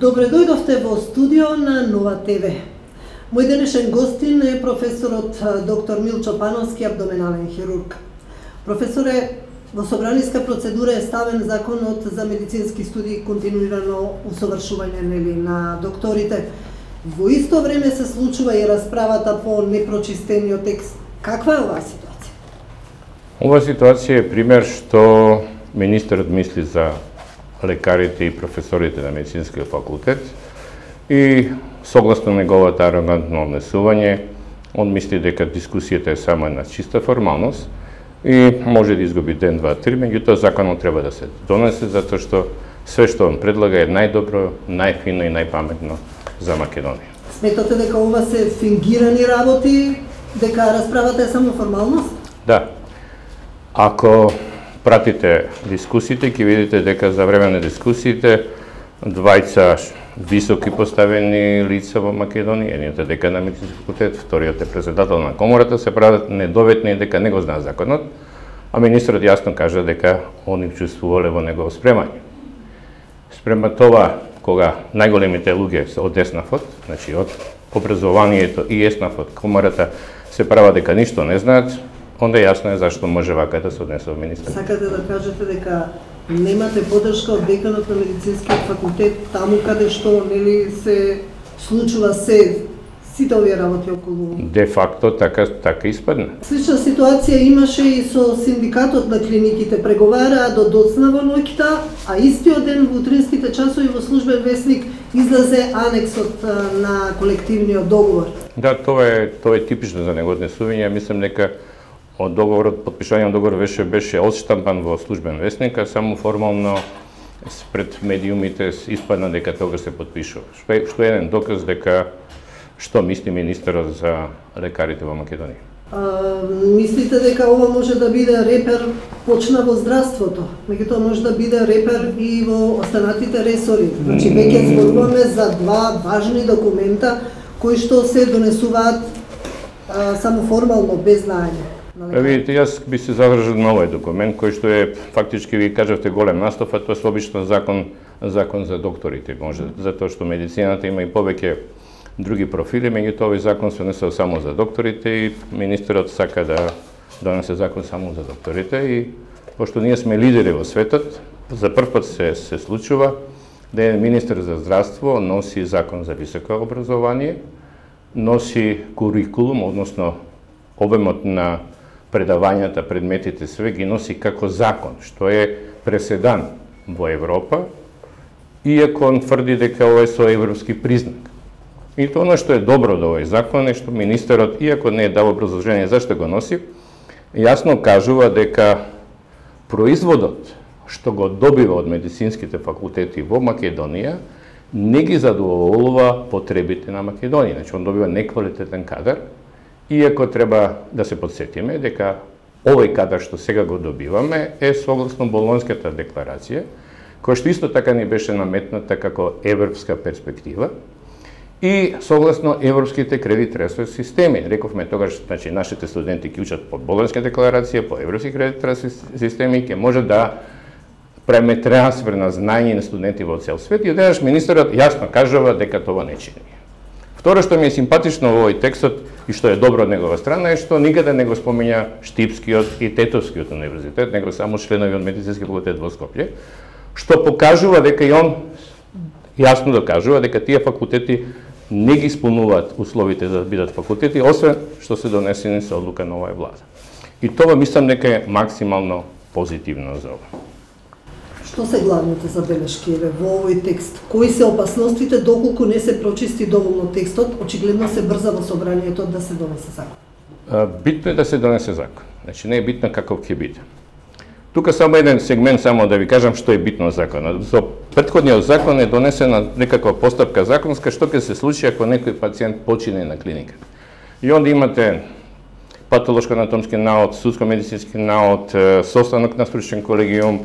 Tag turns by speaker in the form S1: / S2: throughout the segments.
S1: Добре дојдовте во студио на Нова ТВ. Мој денешен гостин е професорот доктор Милчо Пановски, абдоменален хирург. Професоре, во собраниска процедура е ставен законот за медицински студии, континуирано усовршување на докторите. Во исто време се случува и расправата по непрочистениот текст. Каква е оваа ситуација?
S2: Ова ситуација е пример што министерот мисли за лекарите и професорите на медицинскиот факултет и согласно неговата арогантно однесување, он мисли дека дискусијата е само една чиста формалност и може да изгуби ден, два, три, меѓутоа законот треба да се донесе затоа што све што он предлага е најдобро, најфино и најпаметно за Македонија.
S1: Сметате дека ова се фингирани работи, дека расправата е само формалност?
S2: Да. Ако пратите дискусиите, ќе видите дека за време на дискусиите двајца високи поставени лица во Македонија, едниот е декан на медицински факултет, вториот е председател на комората, се прават недоветни дека не го знаат законот, а министрот јасно кажа дека они учествувале во негово спремање. Спрема това, кога најголемите луѓе се од ЕСНАФ-от, значи од образованието и ЕСНАФ-от, комората, се прават дека ништо не знаат, онда јасно е зашто може вака да се однесе во министерството.
S1: Сакате да кажете дека немате поддршка од деканот на медицинскиот факултет таму каде што се случува сите овие работи околу?
S2: Де факто така испадна.
S1: Слична ситуација имаше и со синдикатот на клиниките, преговараа до доцна во ноќта, а истиот ден во утринските часови во службен весник излезе анексот на колективниот договор.
S2: Да, тоа е типично за него однесување. Мислам дека од договорот, подпишувањето договор беше одштампан во службен весник, а само формално пред медиумите испадна дека тогаш се подпишува. Што е еден доказ дека што мисли министерот за лекарите во Македонија.
S1: Мислите дека ова може да биде репер почна во здравството, меѓутоа може да биде репер и во останатите ресори. Значи веќе зборуваме за два важни документа кои што се донесуваат само формално без знаење.
S2: Видите, јас би се задржал на овој документ кој што е фактички ви кажавте голем настав, а тоа е обично закон за докторите, може затоа што медицината има и повеќе други профили, меѓутоа овој закон се донесува само за докторите и министерот сака да донесе закон само за докторите и пошто ние сме лидери во светот, за прв пат се случува да е министер за здравство носи закон за високо образование, носи курикулум, односно обемот на предавањата, предметите, све ги носи како закон, што е преседан во Европа, иако он тврди дека ова е со европски признак. И тоа што е добро до овој закон е што министерот, иако не е дал образложение зашто го носи, јасно кажува дека производот што го добива од медицинските факултети во Македонија не ги задоволува потребите на Македонија. Значи, он добива неквалитетен кадар, иако треба да се подсетиме дека овој кадар што сега го добиваме е согласно Болонската декларација, која што исто така ни беше наметната како европска перспектива и согласно европските кредит-трансфер системи. Рековме тогаш, значи нашите студенти ќе учат по Болонска декларација, по европски кредит-трансфер системи, ќе може да правиме трансфер на знаење на студенти во цел свет и одеднаш министерот јасно кажува дека тоа не чини. Второ што ми е симпатично во овој текстот и што е добро од негова страна е што никаде не го спомења Штипскиот и Тетовскиот универзитет, него само членови од медицински факултет во Скопје, што покажува дека и он јасно докажува дека тие факултети не ги исполнуваат условите да бидат факултети, освен што се донесени со одлука на оваа влада. И тоа мислам дека е максимално позитивно за ова.
S1: Што се главните забелешки во овој текст? Кои се опасностите доколку не се прочисти доволно текстот? Очигледно се брза во собранието да се донесе закон.
S2: Битно е да се донесе закон. Значи не е битно каков ќе биде. Тука само еден сегмент само да ви кажам што е битно законот. За претходниот закон е донесена некаква постапка законска што ќе се случи ако некој пациент почине на клиника. И онда имате патолошко-анатомски наод, судско-медицински наод, состанок на стручен колегиум,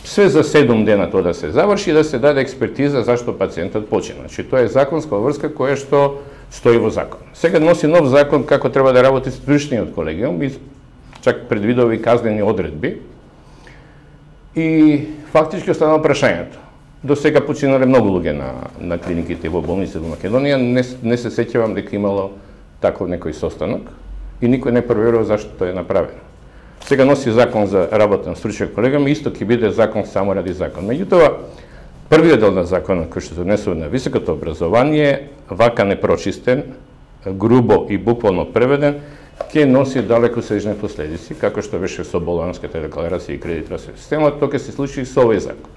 S2: све за 7 дена тоа да се заврши и да се даде експертиза зашто пациентот почина. Значи тоа е законска врска која што стои во закон. Сега носи нов закон како треба да работи стручниот колегиум и чак предвидува и казнени одредби. И фактички останува прашањето. До сега починале многу луѓе на клиниките во болниците во Македонија, не се сеќавам дека имало таков некој состанок и никој не проверува зашто тоа е направено. Сега носи закон за работа на стручен колегиум, исто ќе биде закон само ради закон. Меѓутоа, првиот дел на законот кој што се донесува на високото образование, вака непрочистен, грубо и буквално преведен, ќе носи далекосежни последици, како што беше со Болонската декларација и кредитна система, тоа ќе се случи со овој закон.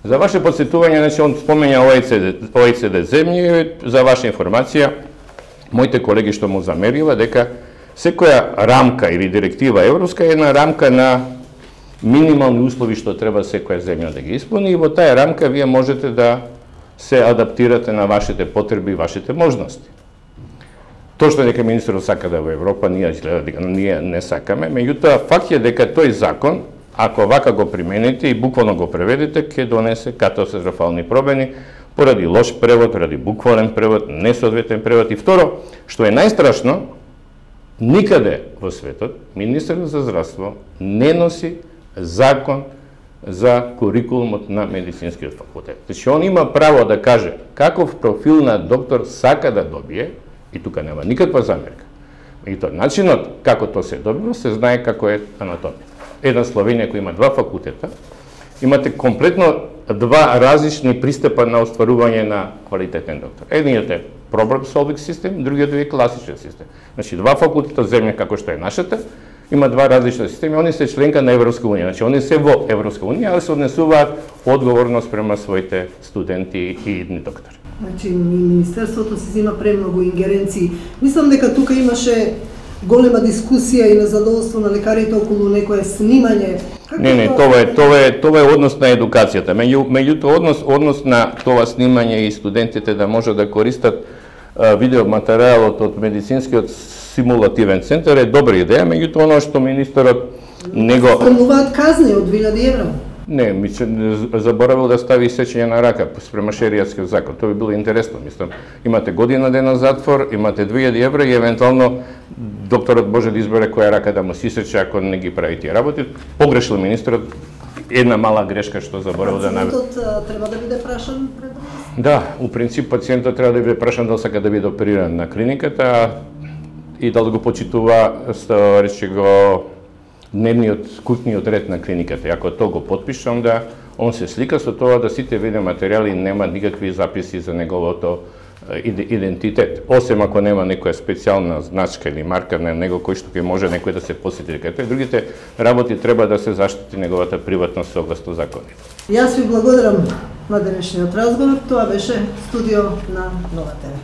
S2: За ваше подсетување, значи, он споменја OECD земји, за ваша информација, моите колеги што му замерила дека секоја рамка или директива европска е една рамка на минимални услови што треба секоја земја да ги исполни и во таа рамка вие можете да се адаптирате на вашите потреби и вашите можности. Тоа што дека министерот сака да во Европа, ние не сакаме, меѓутоа факт е дека тој закон, ако вака го примените и буквално го преведете, ќе донесе катастрофални промени поради лош превод, поради буквален превод, несоодветен превод и второ, што е најстрашно, никаде во светот министерот за здравство не носи закон за курикулумот на медицинскиот факултет. Значи, он има право да каже каков профил на доктор сака да добие, и тука нема никаква замерка. И тоа начинот како тоа се добива, се знае како е анатомија. Една Словенија која има два факултета, имате комплетно два различни пристапа на остварување на квалитетен доктор. Едниот е problem solving систем, другиот е класичен систем. Значи, два факултета земја како што е нашата, има два различни системи, они се членка на Европска унија. Значи, они се во Европска унија, али се однесуваат одговорност према своите студенти и идни доктори.
S1: Значи, Министерството се зема премногу ингеренции. Мислам дека тука имаше голема дискусија и незадоволство на лекарите околу некое снимање.
S2: Не, тоа е однос на едукацијата. Меѓутоа, однос на тоа снимање и студентите да може да користат видеоматеријалот од медицинскиот симулативен центар е добра идеја, меѓутоа оно што министерот не го...
S1: Спремнуваат казни од 1000 евра.
S2: Не, ми заборавил да стави сечење на рака спрема шеријатскиот закон. Тоа би било интересно, мислам. Имате година дена затвор, имате 2000 евра и евентуално докторот може да избере која рака да му се исече ако не ги прави тие работи. Погрешил министерот, една мала грешка што заборавил да направи.
S1: Пациентот треба да биде прашан пред вас?
S2: Да, у принцип пациентот треба да биде прашан дали сака да биде опериран на клиниката и дали го почитува, рече го, дневниот куќниот ред на клиниката. И ако тоа го потпише, онда он се слика со тоа да сите видеоматеријали нема никакви записи за неговото идентитет. Осем ако нема некоја специјална значка или марка на него кој што ќе може некој да се посети дека тој. Другите работи треба да се заштити неговата приватност согласно законите.
S1: Јас ви благодарам на денешниот разговор. Тоа беше студио на Нова ТВ.